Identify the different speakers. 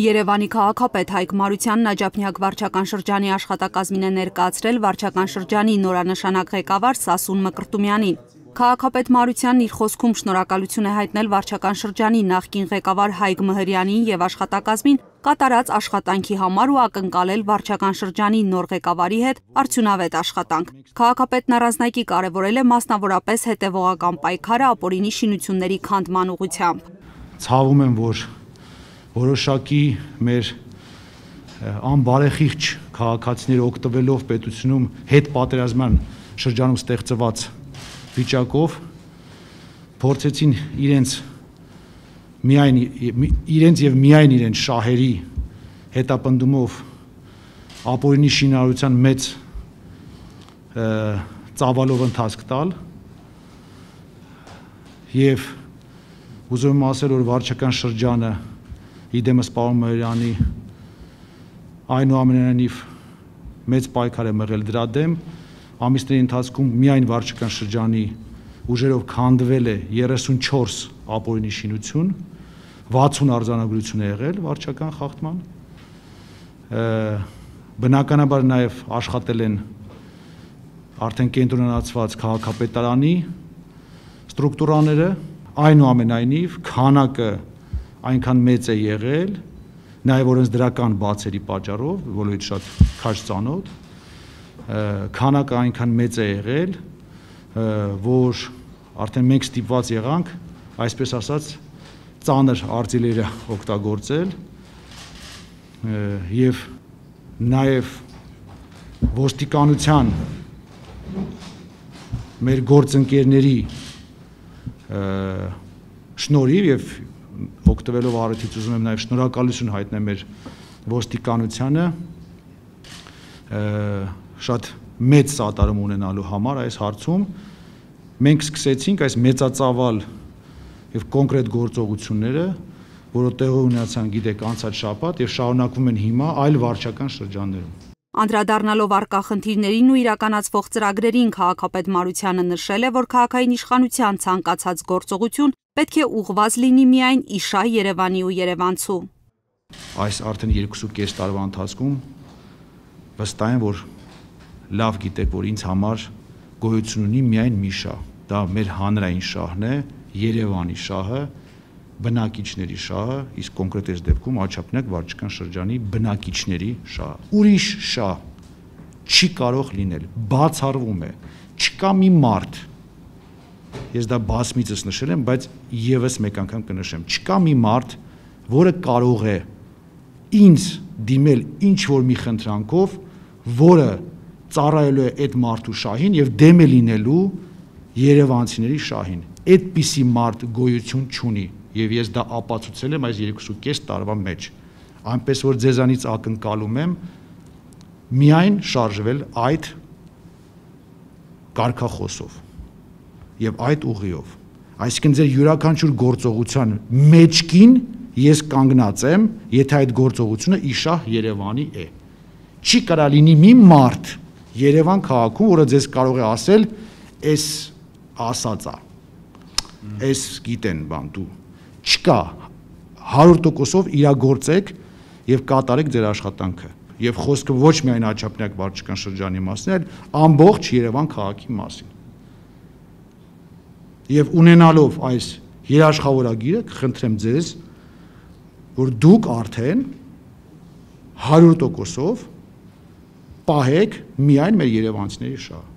Speaker 1: Երևանի քաղաքապետ Հայկ Մարությանն Աջափնյակ վարչական շրջանի աշխատակազմին է ներկայացրել վարչական շրջանի նորանշանակ ղեկավար Սասուն Մկրտումյանին։ Քաղաքապետ Մարությանն իր խոսքում շնորհակալություն է հայտնել վարչական շրջանի նախկին ղեկավար Հայկ Մհրյանին եւ աշխատակազմին կատարած աշխատանքի համար ու ակնկալել վարչական շրջանի նոր ղեկավարի հետ արդյունավետ աշխատանք։ Քաղաքապետն առանձնակի կարևորել է մասնավորապես հետևողական պայքարը ապօրինի շինությունների քանդման ուղղությամբ։
Speaker 2: Ցավում եմ, որ որոշակի մեր անբարեխիղճ քաղաքացիները օգտվելով պետությունում հետ պատերազմյան շրջանում ստեղծված վիճակով փորձեցին իրենց եւ միայն իրենց շահերի հետապնդումով ապօրինի շինարարության մեծ ծավալով ընթացք տալ եւ ուզում եմ ասել, որ վարչական շրջանը իդեմս պարոն Մհրյանի այնուամենայնիվ մեծ պայքար է մղել դրա դեմ, ամիսների ընթացքում միայն վարչական շրջանի ուժերով քանդվել է 34 ապօրինի շինություն, 60 արձանագրություն է եղել վարչական խախտման, բնականաբար նաև աշխատել են արդեն կենտրոնացված քաղաքապետարանի ստրուկտուրաները, այնուամենայնիվ քանակը այնքան մեծ է եղել, նաև օրենսդրական բացերի պատճառով, որովհետև շատ քաջ ծանոթ, քանակը այնքան մեծ է եղել, որ արդեն մենք ստիպված եղանք, այսպես ասած, ծանր արձիլերը օգտագործել եւ նաև ոստիկանության մեր գործընկերների շնորհիվ եւ օգտվելով առիթից ուզում եմ նաև շնորհակալություն հայտնել մեր ոստիկանությանը շատ մեծ սատարում ունենալու համար այս հարցում մենք սկսեցինք այս մեծածավալ եւ կոնկրետ գործողությունները, որը տեղի ունեցան, գիտեք, անցած շաբաթ եւ շարունակվում են հիմա այլ վարչական շրջաններում։
Speaker 1: Անդրադառնալով առկա խնդիրներին ու իրականացվող ծրագրերին քաղաքապետ Մարությանը նշել է, որ քաղաքային իշխանության ցանկացած գործողություն պետք է ուղղված լինի միայն իշահ Երևանի ու երևանցու։
Speaker 2: Այս արդեն 2.5 տարվա ընթացքում վստահ եմ, որ լավ գիտեք, որ ինձ համար գոյություն ունի միայն մի շահ, դա մեր հանրային շահն է, Երևանի շահը, բնակիչների շահը, իսկ կոնկրետ այս դեպքում Աջափնյակ վարչական շրջանի բնակիչների շահը։ Ուրիշ շահ չի կարող լինել, բացառվում է, չկա մի մարդ, ես դա բազմիցս նշել եմ, բայց եւս մեկ անգամ կնշեմ, չկա մի մարդ, որը կարող է ինձ դիմել ինչ որ մի խնդրանքով, որը ծառայելու է այդ մարդու շահին եւ դեմ է լինելու երևանցիների շահին։ Այդպիսի մարդ գոյություն չունի եւ ես դա ապացուցել եմ այս 2.5 տարվա մեջ, այնպես որ ձեզանից ակնկալում եմ միայն շարժվել այդ կարգախոսով եւ այդ ուղիով, այսինքն ձեր յուրաքանչյուր գործողության մեջքին ես կանգնած եմ, եթե այդ գործողությունը իշահ Երևանի է։ Չի կարա լինի մի մարդ Երևան քաղաքում, որը ձեզ կարող է ասել, «Էս ասածա, էս գիտեն բան դու»։ Չկա, 100%-ով իրագործեք եւ կատարեք ձեր աշխատանքը։ Եվ խոսքը ոչ միայն Աջափնյակ վարչական շրջանի մասին, այլ ամբողջ Երևան քաղաքի մասին։ Եվ ունենալով այս երաշխավորագիրը, կխնդրեմ ձեզ, որ դուք արդեն 100%-ով պահեք միայն մեր երևանցիների շահը։